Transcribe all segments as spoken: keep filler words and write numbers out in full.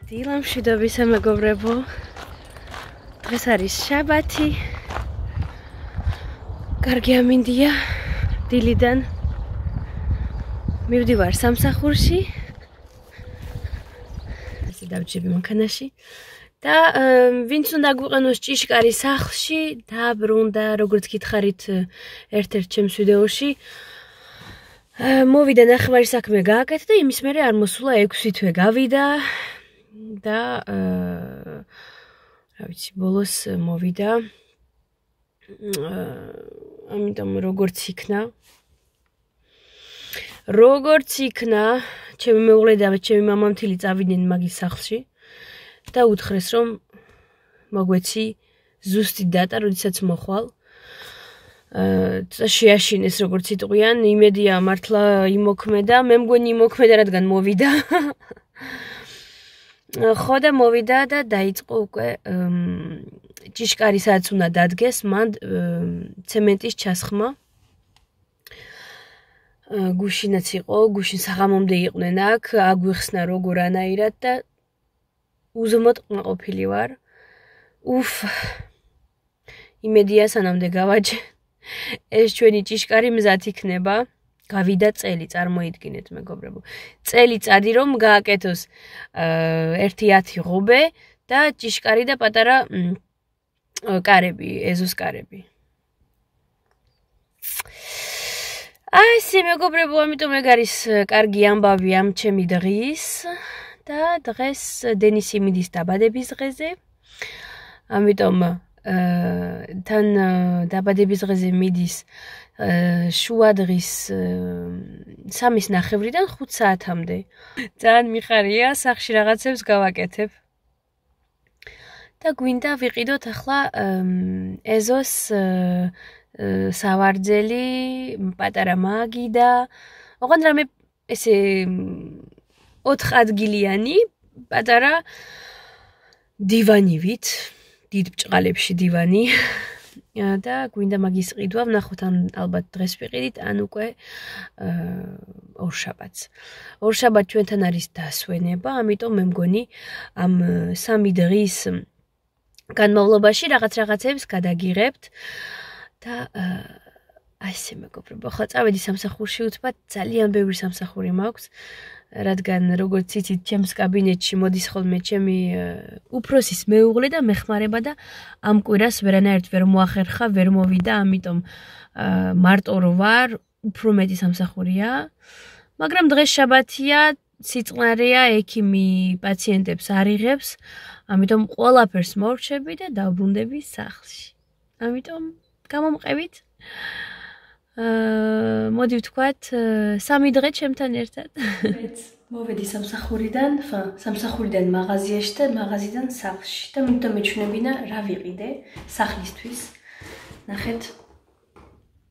დილამშვიდობისა მეგობრებო. დღეს არის შაბათი. კარგი ამინდია დილიდან. მივდივარ სამსახურში. ასე დავჭები მანქანაში. და ვინც უნდა გვიყენოს ჭიშკარი სახლში, დაბრუნდა, როგორც გითხარით ერთ-ერთ ჩემს ვიდეოში. მოვიდა ნახევარი საქმე გააკეთა და იმის მერე არ მოსულა ექვსი თვე გავიდა და რა ვიცი, ბოლოს მოვიდა. ამიტომ როგორც იქნა როგორც იქნა ჩემი მეუღლე და ჩემი მამამთილი წავიდნენ მაგის სახლში და უთხრეს რომ მოგვეცი ზუსტი დატა როდესაც მოხვალ. შეაშინეს როგორც იტყვიან, იმედია მართლა იმოქმედა, მე მგონი იმოქმედა, რადგან მოვიდა. ხო და მოვიდა და დაიწყო უკვე ჭიშკარი სადაც უნდა დადგეს, მან ცემენტის ჩასხმა. გუშინაც იყო, გუშინ საღამომდე იყვნენ აქ, აგვიხსნა როგორ ანაირად და უზომოდ ყოფილი ვარ. უფ, იმედია სანამდე გავაჯე. ეს ჩვენი ჭიშკარი მზად იქნება. გავიდა წელი, წარმოიდგინეთ მეგობრებო. წელი წადი რომ გააკეთოს ერთი ათი ღობე და ჭიშკარი და პატარა კარები, ეზოს კარები. აი ესე მეგობრებო, ამიტომ ეგ არის კარგი ამბავი ამ ჩემი დღის და დღეს დენისი მიდის დაბადების დღეზე. ამიტომ თან დაბადების დღეზე მიდის შუადღის სამის ნახევრიდან ხუთ საათამდე. ძალიან მიხარია, სახში რაღაცებს გავაკეთებ. და გვინდა ვიყიდოთ ახლა ეზოს სავარძელი, პატარა მაგი და ოღონდ რამე ესე ოთხ ადგილიანი პატარა დივანივით, დიდ ბჭყალებში დივანი. და გვინდა მაგის ყიდვა, ვნახოთ ან ალბათ დღეს ვიყიდით, ან უკვე ორშაბათს. ორშაბათ ჩვენთან არის დასვენება, ამიტომ მე მგონი ამ სამი დღის განმავლობაში რაღაც რაღაცებს გადაგიღებთ და აი ესე მეგობრებო, ახლა წავედი სამსახურში, უცბად ძალიან ბევრი სამსახური მაქვს, რადგან როგორც იცით, ჩემს კაბინეტში მოდის ხოლმე ჩემი უფროსის მეუღლე და მეხმარება და ამ კვირას ვერანაირად ვერ მოახერხა, ვერ მოვიდა, ამიტომ მარტო რო ვარ, უფრო მეტი სამსახურია. მაგრამ დღეს შაბათია, სიწყნარეა, ექიმი პაციენტებს არ იღებს, ამიტომ ყველაფერს მორჩები და დავბრუნდები სახლში. ამიტომ გამომყევით. მოდი ვთქვათ, სამი დღე ჩემთან ერთად. მოვედი სამსახურიდან, სამსახურიდან მაღაზიაში და მაღაზიიდან სახლში და მინდა მეჩვენებინა რა ვიყიდე სახლისთვის. ნახეთ.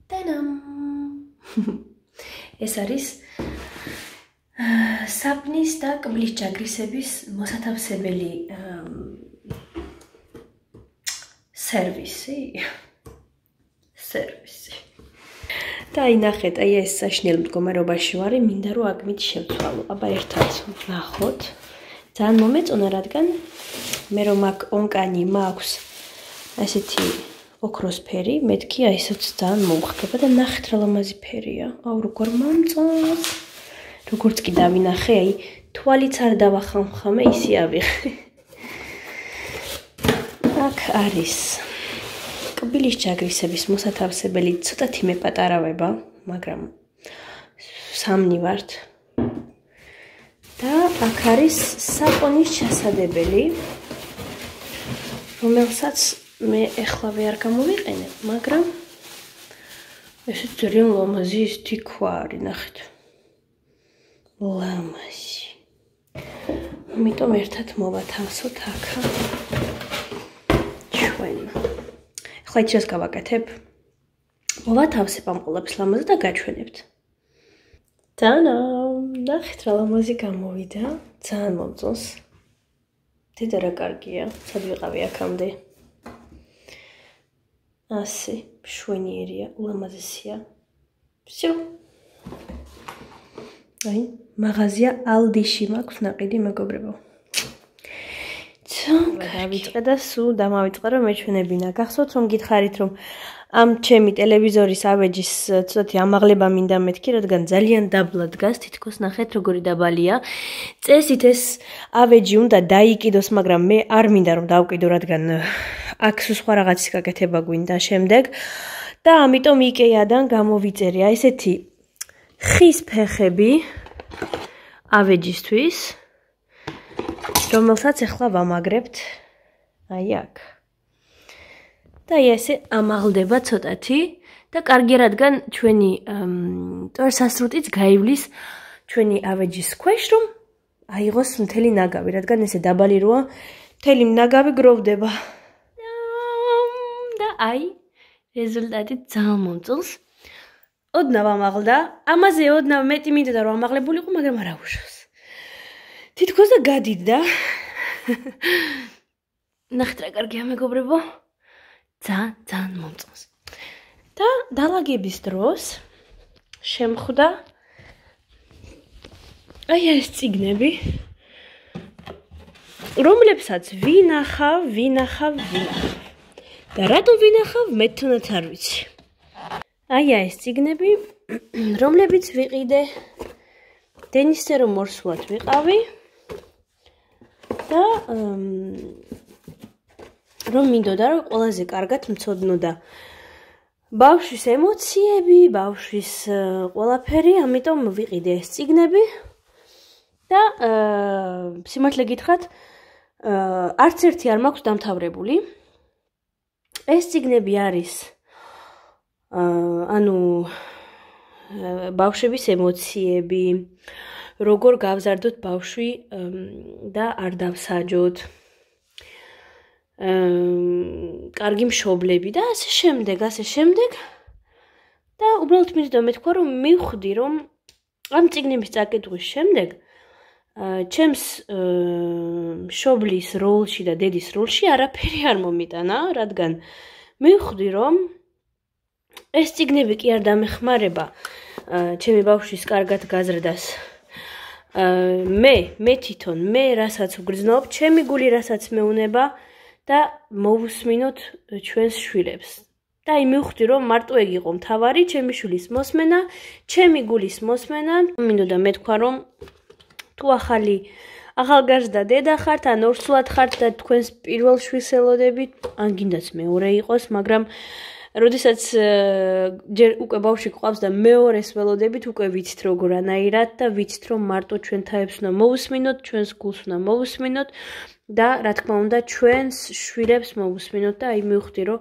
ტანამ. ეს არის საპნის და კბლის ჯაგრისების მოსათავსებელი სერვისი. სერვისი. და აი ნახეთ, აი ეს საშინელ მდგომარეობაში ვარ, მინდა რომ აგმით შევცვალო. აბა ერთად ვნახოთ. ძალიან მომეწონა, რადგან მე რომ აქ ონკანი მაქვს ასეთი ოქროს ფერი, მეთქი აი ესეც ძალიან მომხდება და ნახეთ რა ლამაზი ფერია. აუ როგორ მომწონს. როგორც კი დავინახე, აი თვალიც არ დავახამხამე, ისე ავიღე. აქ არის კბილის ჯაგრისების მოსათავსებელი, ცოტათი მეპატარავება, მაგრამ სამნი ვართ. და აქ არის საპონის ჩასადებელი, რომელსაც მე ეხლავე არ გამოვიყენებ, მაგრამ ესე ძალიან ლამაზი ის თიქვა არის, ნახეთ. ლამაზი. ამიტომ ერთად მოვათავსოთ აქა. ჩვენ ახლა იჩეს გავაკეთებ. მოვათავსებ ამ ყოლებს ლამაზად და გაჩვენებთ. ტანა, ნახეთ რა ლამაზი გამოვიდა. ძალიან მომწონს. დედა რა კარგია. სად ვიყავი აქამდე. ასე, მშვენიერია, ულამაზესია. всё. აი, მაღაზია ალდიში მაქვს ნაყიდი მეგობრებო. დავიწყე და სულ დამავიწყე რომ მეჩვენებინა. გახსოვთ რომ გითხარით რომ ამ ჩემი ტელევიზორის ავეჯის ცოტათი ამაღლება მინდა მეთქი, რადგან ძალიან დაბლა დგას, თითქოს ნახეთ როგორი დაბალია. წესით ეს ავეჯი უნდა დაიკიდოს, მაგრამ მე არ მინდა რომ დავკიდო, რადგან აქ სხვა რაღაცის გაკეთება გვინდა შემდეგ. და ამიტომ იკეადან გამოვიწერე აი ესეთი ხის ფეხები ავეჯისთვის, რომელსაც ახლა ვამაგრებთ აი აქ. და ესე ამაღლდება ცოტათი და კარგი რადგან ჩვენი ტვერსასრუტიც გაივლის ჩვენი ავეჯის ქვეშ, რომ აიღოს მთელი ნაგავი, რადგან ესე დაბალი როა, მთელი ნაგავი გროვდება. და აი რეზულტატი ძალიან მომწონს. ოდნავ ამაღლდა, ამაზე ოდნავ მეტი მინდოდა რომ ამაღლებულიყო, მაგრამ არ აუშავს. თითქოს და გადიდდა. ნახეთ რა კარგია მეგობრებო. ძალიან ძალიან მომწონს. და დალაგების დროს შემხვდა აი ეს წიგნები, რომლებსაც ვინახავ, ვინახავ, ვინახავ. და რატომ ვინახავ, მე თუნდაც არ ვიცი. აი ეს წიგნები, რომლებიც ვიყიდე დენისზე რომ მორსულად ვიყავი და რომ მინდოდა რომ ყველაზე კარგად მცოდნოდა ბავშვის ემოციები, ბავშვის ყველაფერი, ამიტომ ვიყიდე ეს წიგნები და სიმართლე გითხრათ, არც ერთი არ მაქვს დამთავრებული. ეს წიგნები არის ანუ ბავშვების ემოციები, როგორ გავზარდოთ ბავშვი და არ დავსაჯოთ. კარგი მშობლები და ასე შემდეგ, ასე შემდეგ. და უბრალოდ მინდოდა მეთქვა რომ მივხვდი რომ ამ წიგნების წაკითხვის შემდეგ ჩემს მშობლის როლში და დედის როლში არაფერი არ მომიტანა, რადგან მივხვდი რომ ეს წიგნები კი არ დამეხმარება ჩემი ბავშვის კარგად გაზრდას. მე, მე თვითონ, მე რასაც ვგრძნობ, ჩემი გული რასაც მეუნება და მოვუსმინოთ ჩვენს შვილებს. და აი მივხვდი რომ მარტო ეგ იყო მთავარი, ჩემი შვილის მოსმენა, ჩემი გულის მოსმენა. მინდოდა მეთქვა რომ თუ ახალი ახალგაზრდა დედა ხართ, ან ორსულად ხართ და თქვენს პირველ შვილს ელოდებით, ან გინდათ მეორე იყოს, მაგრამ როდესაც ჯერ უკვე ბავშვი გვყავს და მეორეს ველოდებით, უკვე ვიცით როგორანაირად და ვიცით რომ მარტო ჩვენ თაებს უნდა მოვუსმინოთ, ჩვენს გულს უნდა მოვუსმინოთ და რა თქმა უნდა ჩვენს შვილებს მოვუსმინოთ და აი მივხვდი რომ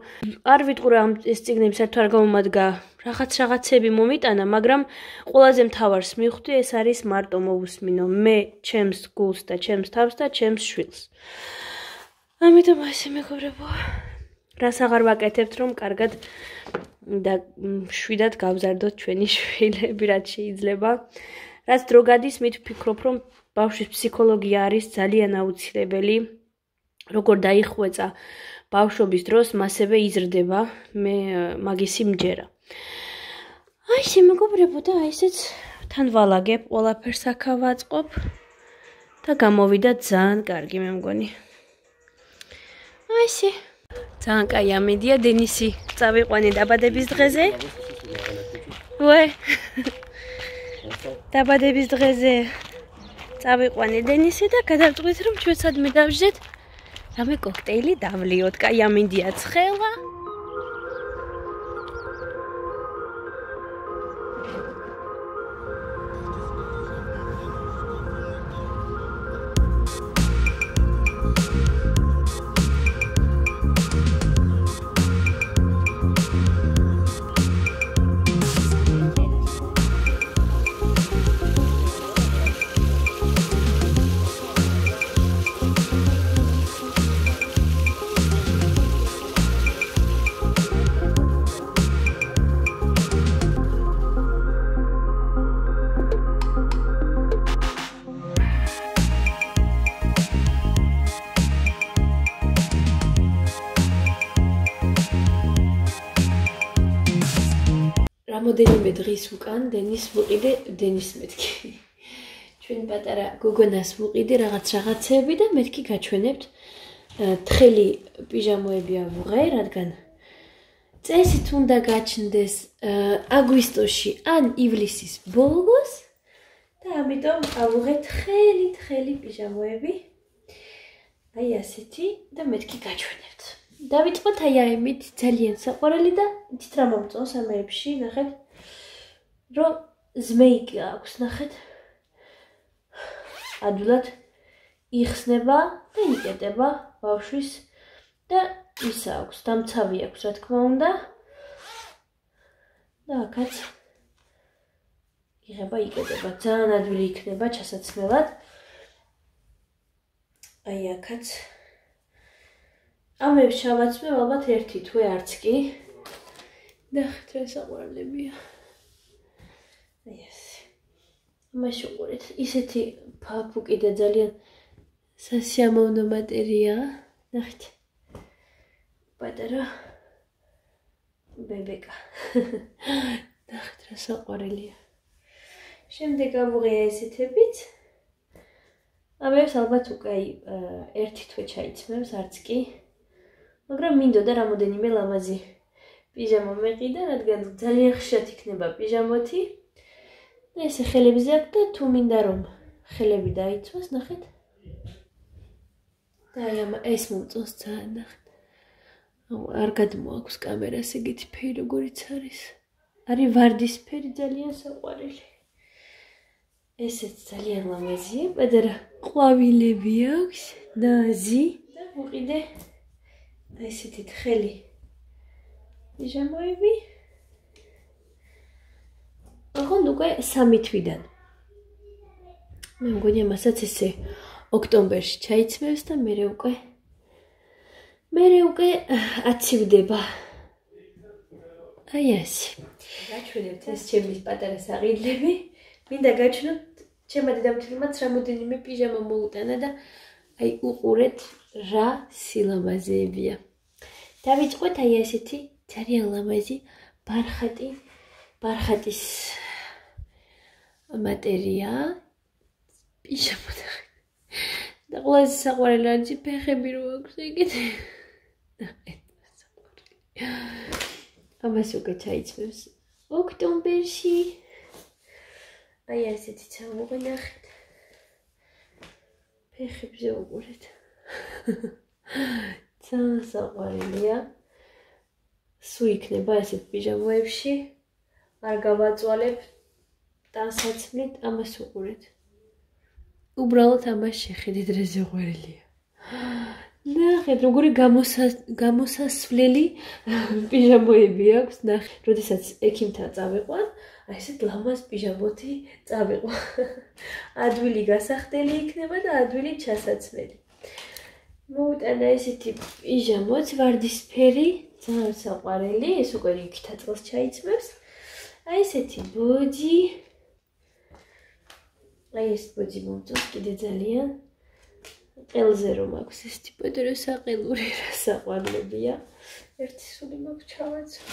არ ვიტყურე ამ ეს წიგნები საერთოდ არ გამომადგა რაღაც რაღაცები მომიტანა, მაგრამ ყველაზე მთავარს მივხვდი ეს არის მარტო მოვუსმინო მე ჩემს გულს და ჩემს თავს და ჩემს შვილს. ამიტომ ასე მეგობრებო, რას აღარ ვაკეთებთ რომ კარგად და შვიდად გავზარდოთ ჩვენი შვილები, რაც შეიძლება. რაც დრო გადის, მით ვფიქრობ რომ ბავშვის ფსიქოლოგია არის ძალიან აუცილებელი. როგორ დაიხვეწა ბავშვობის დროს, მასევე იზრდება, მე მაგისი მჯერა. აი ესე მეგობრებო და აი ესეც თან ვალაგებ, ყველაფერს აქ ავაწყობ და გამოვიდა ძალიან კარგი მე მგონი. აი ესე ძალიან კაი ამედია, დენისი წავიყვანე დაბადების დღეზე. ვე დაბადების დღეზე წავიყვანე დენისი და გადავწყვიტე რომ ჩვენ სადმე დავждეთ რამე კოქტეილი დავლიოთ. კაი ამინდია ცხელა. რამოდენიმე დღის უკან დენის ვუყიდე, დენის მეთქი. ჩვენ პატარა გოგონას ვუყიდე რაღაც რაღაცები და მეთქი გაჩვენებთ თხელი პიჟამოები ავუღე, რადგან წესით უნდა გაჩნდეს აგვისტოში ან ივლისის ბოლოს და ამიტომ ავუღე თხელი თხელი პიჟამოები. აი ასეთი და მეთქი გაჩვენებთ. დავიწყოთ აი ამით ძალიან საყვარელი და იცით რა მომწონს ამებში, ნახეთ, რომ ზმეიკი აქვს, ნახეთ. ადვილად იხსნება და იკეტება ბავშვის და ის აქვს, დამცავი აქვს, რა თქმა უნდა. და აქაც იღება, იკეტება, ძალიან ადვილი იქნება ჩასაცმელად. აი აქაც ამებს ჩავაცმევ ალბათ ერთი თვე არც კი. ნახეთ რა საყვარლებია. აი ესე. ამაში უყურეთ, ისეთი ფაფუკი და ძალიან სასიამოვნო მატერია. ნახეთ. პატარა ბებეკა. ნახეთ რა საყვარელია. შემდეგ ავუღე ესეთებით. ამებს ალბათ უკვე ერთი თვე ჩაიცმევს, არც კი. მაგრამ მინდოდა რამოდენიმე ლამაზი პიჟამა მეყიდა, რადგან ძალიან ხშირად იქნება პიჟამოთი. და ესე ხელებზე აქვს და თუ მინდა რომ ხელები დაიცვას, ნახეთ. და აი ამ ეს მომწონს ძალიან, ნახეთ. არ გადმოაქვს კამერას ეგეთი ფერი როგორიც არის. არის ვარდისფერი, ძალიან საყვარელი. ესეც ძალიან ლამაზია, პატარა ყვავილები აქვს, ნაზი და მოყიდე ესეთი თხელი პიჟამოები. ოღონდ უკვე სამი თვიდან. მე მგონი მასაც ესე ოქტომბერში ჩაიცმევს და მერე უკვე მერე უკვე აცივდება. აი ასე. გაჩვენებთ ეს ჩემი პატარა საყიდლები. მინდა გაჩვენოთ ჩემმა დედამთილმაც რამოდენიმე პიჟამა მოუტანა და აი უყურეთ რა სილამაზეებია. დავიწყოთ აი ასეთი ძალიან ლამაზი ბარხატი, ბარხატის მატერია. პიჟამა და ყველაზე საყვარელი არის ფეხები რო აქვს ეგეთი. ამას უკვე ჩაიცმევს ოქტომბერში. აი ასეთი ჩამოვე ნახეთ. ფეხებზე უყურეთ. ძალიან საყვარელია. სულ იქნება ესეთ პიჟამოებში. არ გავაწვალებ ტანსაცმლით, ამას უყურეთ. უბრალოდ ამას შეხედეთ რა საყვარელია. ნახეთ როგორი გამოსასვლელი პიჟამოები აქვს. ნახეთ, როდესაც ექიმთან წავიყვან, აი ესეთ ლამაზ პიჟამოთი წავიყვან. ადვილი გასახდელი იქნება და ადვილი ჩასაცმელი. მოუტანა ესეთი პიჟამოც ვარდისფერი, ძალიან საყვარელი, ეს უკვე რიგთა წელს ჩაიცმევს. აი ესეთი ბოჯი. აი ეს ბოჯი მომწონს კიდე ძალიან. ყელზე რომ აქვს ესეთი პატარა საყელური რა საყვარლებია. ერთი სული მაქვს ჩავაცვა.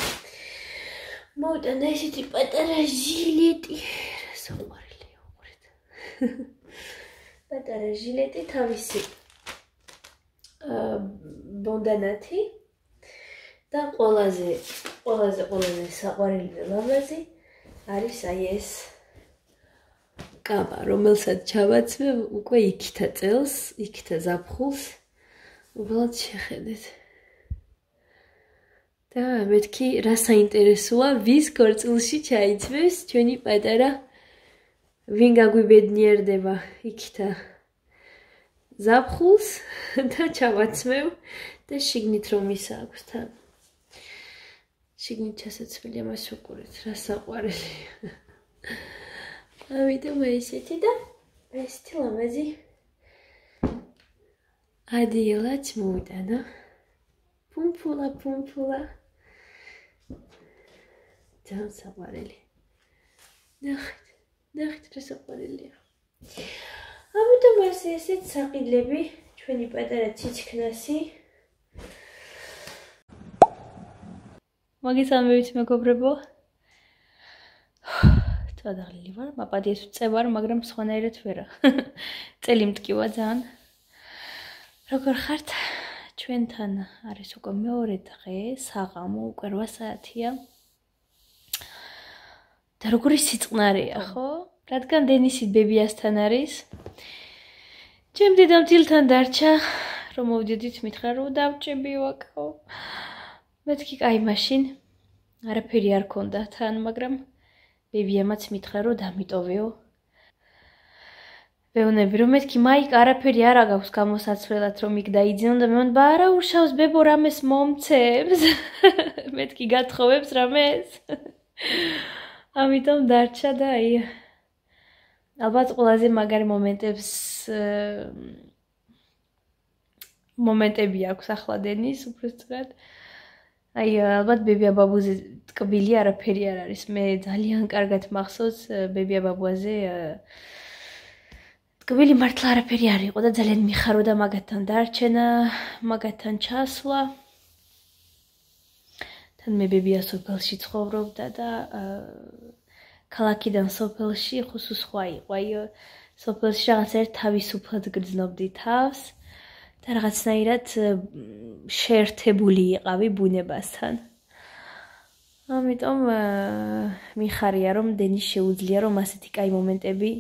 მოუტანა ესეთი პატარა ჟილეტი, რა საყვარელია უყურეთ. პატარა ჟილეტი თავისი ბონდანათი და ყველაზე ყველაზე ყველაზე საყვარელი და ლამაზი არის აი ეს კაბა, რომელსაც ჩავაცმევ უკვე იქითა წელს, იქითა ზაფხულს. უბრალოდ შეხედეთ. და მეთქი რა საინტერესოა, ვის ქორწილში ჩაიცმევს ჩვენი პატარა, ვინ გაგვიბედნიერდება იქითა ზაფხულს და ჩავაცმევ და შიგნით რომ ის აქვს თან. შიგნით ჩასაცმელი ამას უყურეთ, რა საყვარელია. ამიტომ ესეთი და ესეთი ლამაზი ადიელაც მოუტანა. პუმპულა, პუმპულა. ძალიან საყვარელი. ნახეთ, ნახეთ რა საყვარელია. ამიტომ ეს ესეთ საყიდლები, ჩვენი პატარა ციცქნასი. მოგესალმებით მეგობრებო. წადაღლილი ვარ, მაპატიეს ვწევარ, მაგრამ სხვანაირად ვერა. წელი მტკივა ძალიან. როგორ ხართ? ჩვენთან არის უკვე მეორე დღე, საღამო, უკვე რვა საათია. და როგორი სიწყნარია, ხო? რადგან დენისი ბებიასთან არის. ჩემ დედამთილთან დარჩა, რომ მოვიდით მითხრა რომ დავჭები ვაკო. მეთქი კაი მაშინ არაფერი არ ქონდა თან, მაგრამ ბებიამაც მითხრა რომ დამიტოვეო. ვეუბნები რომ მეთქი მაიკა არაფერი არ აქვს გამოსაცვლელად რომ იქ დაიძინო და მე მგონი არა უშავს ბებო რამეს მომცემს. მეთქი გათხოვებს რამეს. ამიტომ დარჩა და აი ალბათ ყველაზე მაგარი მომენტებს მომენტები აქვს ახლა დენის უბრალოდ აი ალბათ ბებია ბაბუზე ტკბილი არაფერი არ არის მე ძალიან კარგად მახსოვს ბებია ბაბუაზე ტკბილი მართლა არაფერი არ იყო და ძალიან მიხაროდა მაგათთან დარჩენა მაგათთან ჩასვლა თან მე ბებია სოფელში ცხოვრობდა და ქალაქიდან სოფელში ხუსუ სხვა იყო აი სოფელში რაღაც ერთ თავისუფლად გრძნობდი თავს და რაღაცნაირად შეერთებული იყავი ბუნებასთან. ამიტომ მიხარია რომ დენის შეუძლია რომ ასეთი კაი მომენტები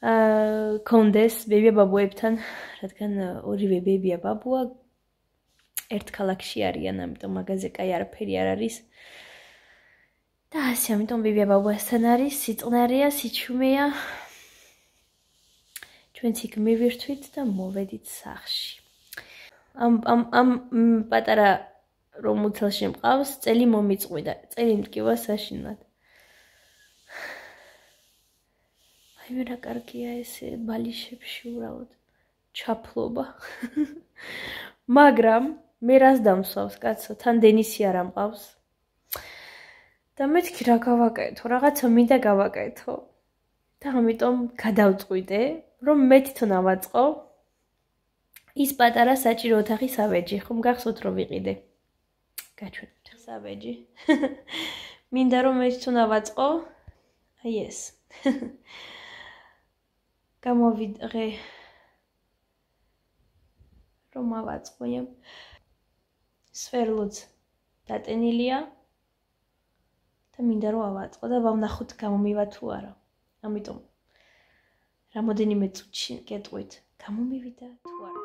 აა კონდეს ბებია ბაბუებთან, რადგან ორივე ბებია ბაბუა ერთ ქალაქში არიან, ამიტომ მაგაზე კაი არაფერი არ არის. და ასე ამიტომ ბებია ბაბუასთან არის, სიწყნარია, სიჩუმეა. ჩვენც იქ მივირთვით და მოვედით სახლში. ამ ამ ამ პატარა რომ უცელში მყავს, წელი მომიწყვიდა. წელი მტკივა საშინლად. აი მე რა კარგია ესე ბალიშებში უბრალოდ ჩაფლობა. მაგრამ მე რას დამსვავს, კაცო, თან დენისი არ ამყავს. და მეთქი რა გავაკეთო, რაღაცა მინდა გავაკეთო. და ამიტომ გადავწყვიტე, რომ მე თვითონ ავაწყო ის პატარა საჭირო ოთახი სავეჯი, ხომ გახსოვთ რომ ვიყიდე. გაჩვენებთ სავეჯი. მინდა რომ მე თვითონ ავაწყო. აი ეს. გამოვიდღე რომ ავაწყო. სვერლოც დატენილია. და მინდა რომ ავაწყო და ვავნახოთ გამომივა თუ არა. ამიტომ რამოდენიმე წუთში გეტყვით, გამომივიდა თუ არა.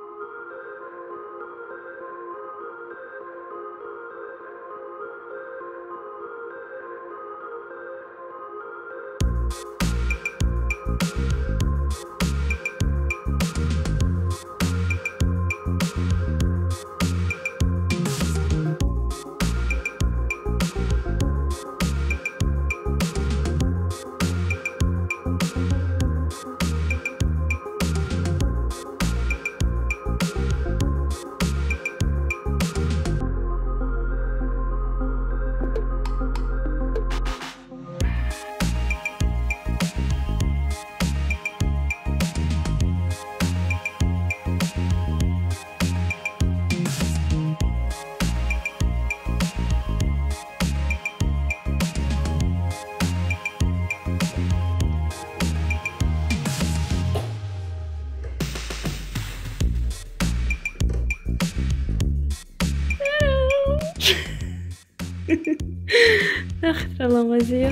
ნახეთ რა ლამაზია.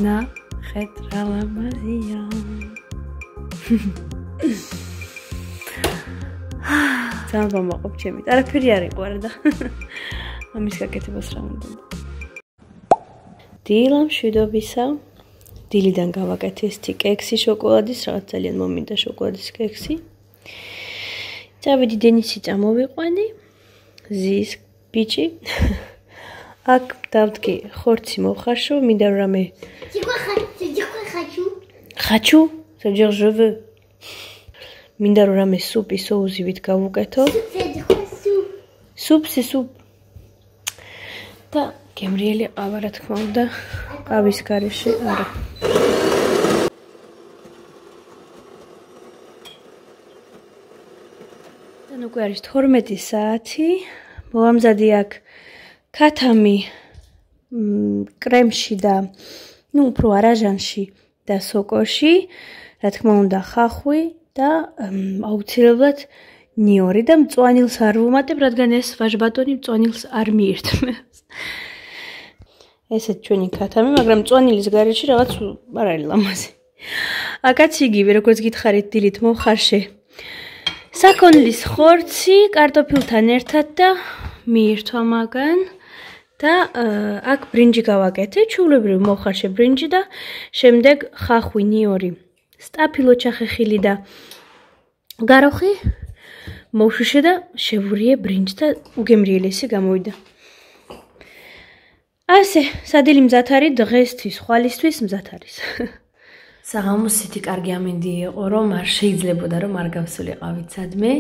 ნახეთ რა ლამაზია. ძალიან მომაყობ ჩემით. არაფერი არ იყო არა და ამის გაკეთებას რა უნდა. დილა მშვიდობისა. დილიდან გავაკეთე ესეთი კექსი შოკოლადის, რაღაც ძალიან მომინდა შოკოლადის კექსი. წავედი დენისი წამოვიყვანე. ზის ბიჭი. აქ დავდგე ხორცი მოვხარშო, მინდა რომ რამე ხაჩუ, ça veut dire je veux. მინდა რომ რამე სუპი соусივით გავუკეთო. სუპ, სუპ. და გემრიელი ყავა რა თქმა უნდა, ყავის გარეშე არა. და უკვე არის თორმეტი საათი. მოვამზადე აქ ქათამი კრემში და ნუ უფრო არაჟანში და სოკოში, რა თქმა უნდა ხახვი და აუცილებლად ნიორი და მწვანილს არ ვუმატებ, რადგან ეს ვაჟბატონი მწვანილს არ მიირთმევს. ესეც ჩვენი ქათამი, მაგრამ მწვანილის გარეშე რაღაც არ არის ლამაზი. აკაც იგივე, როგორც გითხარით, დილით მოვხარშე. საქონლის ხორცი კარტოფილთან ერთად და მიირთვა მაგან და აქ ბრინჯი გავაკეთე, ჩვეულებრივ მოვხარშე ბრინჯი და შემდეგ ხახვი, ნიორი, სტაფილო ჩახეხილი და გაროხი მოვშუშე და შევურიე ბრინჯს და უგემრიელესი გამოვიდა. ასე, სადილი მზად არის დღესთვის, ხვალისთვის მზად არის. საღამოს ისეთი კარგი ამინდი იყო, რომ არ შეიძლებოდა რომ არ გავსულიყავით სადმე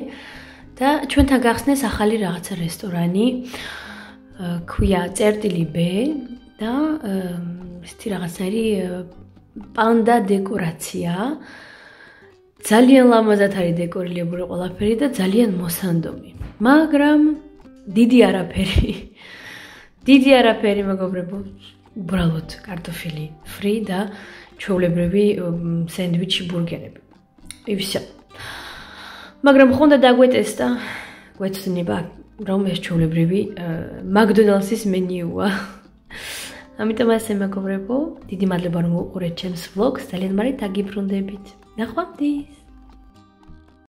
და ჩვენთან გახსნეს ახალი რაღაცა რესტორანი, ქვია წერტილი ბ და ისეთი რაღაცნაირი პანდა დეკორაცია. ძალიან ლამაზად არის დეკორირებული ყველაფერი და ძალიან მოსანდომი. მაგრამ დიდი არაფერი. დიდი არაფერი მეგობრებო, უბრალოდ კარტოფილი ფრი და ჩვეულებრივი სენდვიჩი, ბურგერები. ისე. მაგრამ ხონდა დაგვეტესტა, გვეცნება რომ ეს ჩვეულებრივი მაკდონალდსის მენიუა. ამიტომ ასე მეგობრებო, დიდი მადლობა რომ უყურეთ ჩემს ვლოგს, ძალიან მარით დაგიბრუნდებით. ნახვამდის.